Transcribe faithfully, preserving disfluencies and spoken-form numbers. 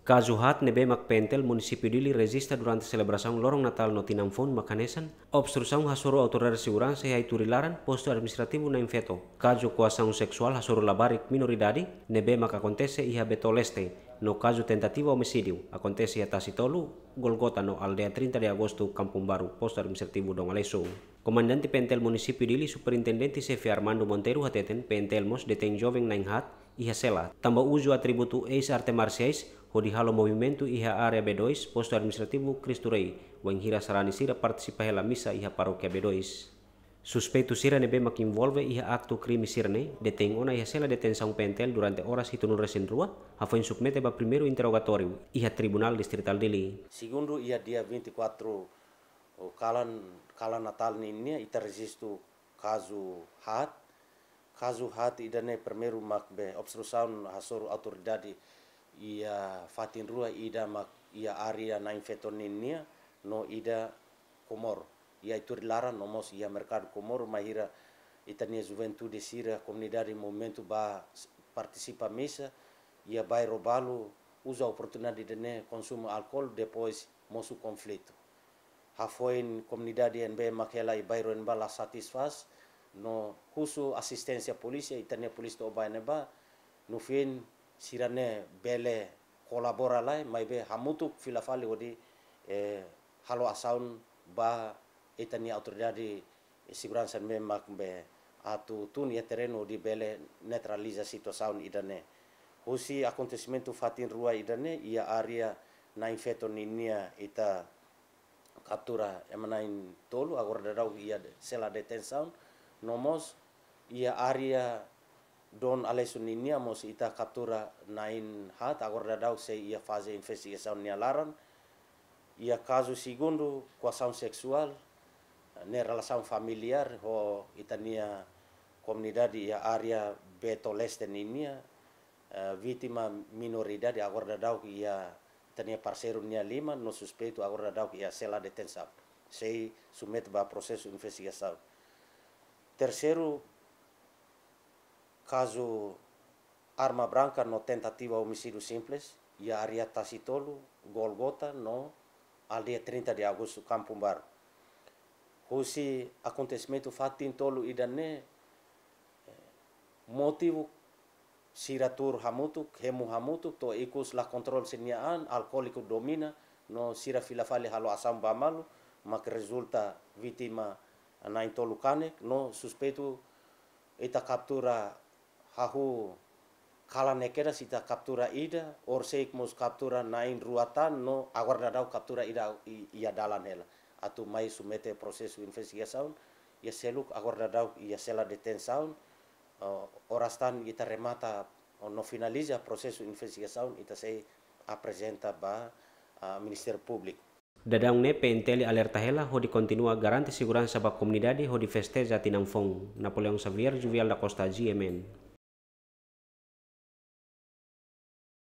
Kazu haat ne'ebé mak PNTL Munisípiu Dili rejista durante selebrasaun loron Natál no Tinan Foun mak hanesan: obstrusaun hasoru autoridade seguransa iha Ituri laran, Postu Administrativu Nain Feto. Kazu koasaun seksuál hasoru labarik minoridade ne'ebé mak akontese iha Beto Leste, no kazu tentativa omisídiu akontese iha Tasi Tolu, Golgota no Aldeia trinta de Agosto, Kampung Baru, Postu Administrativu Dom Aleixo. Komandante PNTL Munisípiu Dili, Superintendente Xefe Armando Monteiro hateten, PNTL mós detein joven na'in haat iha sela, tanba uzu atributu eis arte marsiais hodi halo movimentu iha área B dois, Postu Administrativu Cristo Rei, wainhira sarani sira partisipa hela misa iha parókia B dois. Suspeitu sira ne'ebé mak envolve iha aktu krime sira-ne'e detein ona iha sela detensaun PNTL durante oras hitunulu resin rua, hafoin submete ba primeiru interrogatóriu iha Tribunál Distritál Dili. Segundu, iha dia vinte e quatro, o kalan, kalan Natál ninia, ita rejistu kazu haat. Kazu haat ida-ne'e primeiru mak be obstrusaun hasoru autoridade iha fatin rua, ida mak iha área Nain Feto ninia, no ida Comoro, iha Ituri laran no mós iha merkadu Comoro, bainhira ita-nia juventude sira, komunidade movimentu ba s-, partisipa misa iha bairru balu, uza oportunidade ida-ne'e konsumu álkol, depois mosu konflitu. Hafoin komunidade ne'ebé mak hela iha bairru ne'ebá la satisfás, no husu asisténsia polísia, ita-nia polísia to'o ba ne'ebá, no fim sira-ne'e bele kolabora lai, maibé hamutuk fila fali hodi, eh, halo asaun ba ita-nia autoridade seguransa ne'ebé mak be atu tun iha terrenu hodi bele neutraliza situasaun ida-ne'e. Husi akontesimentu fatin rua ida-ne'e, iha área Nain Feto ninia ita kaptura ema na'in tolu, agora daudaun iha sela detensaun, no mós iha área Dom Aleixo ninia mós ita kaptura na'in haat, agora daudaun sei iha faze investigasaun nia laran. Iha kazu segundu, koasaun seksuál, ne'e relasaun familiár ho ita-nia komunidade iha área Beto Leste ninia, eh, vítima minoridade, agora daudaun iha ita-nia parseiru nia liman, no suspeitu agora daudaun iha sela detensaun. Sei submete ba prosesu investigasaun. Terseiru, kazu arma branka no tentativa omisídiu simples, iha área Tasi Tolu, Golgota no Aldeia trinta de Agosto, Kampung Baru. Husi akontesimentu fatin tolu ida-ne'e, eh, motivu sira tuur hamutuk, hemu hamutuk, to'o ikus la kontrola sira-nia an, alkóliku domina, no sira fila fali halo asaun ba malu, mak rezulta vítima na'in tolu kanek, no suspeitu ita kaptura hahú kalan ne'e kedas ita kaptura ida, horisehik mós kaptura na'in rua tan, no agora daudaun kaptura ida i-, iha dalan hela. Atu mai submete prosesu investigasaun, iha seluk agora daudaun iha sela detensaun, eh, oras tan ita remata, no finaliza prosesu investigasaun, ita sei aprezenta ba, ah, Ministériu Públiku. Daudaun ne'e PNTL alerta hela hodi kontinua garante seguransa ba komunidade hodi festeja Tinan Foun. Napoleão Xavier, Juvial da Costa, G M N.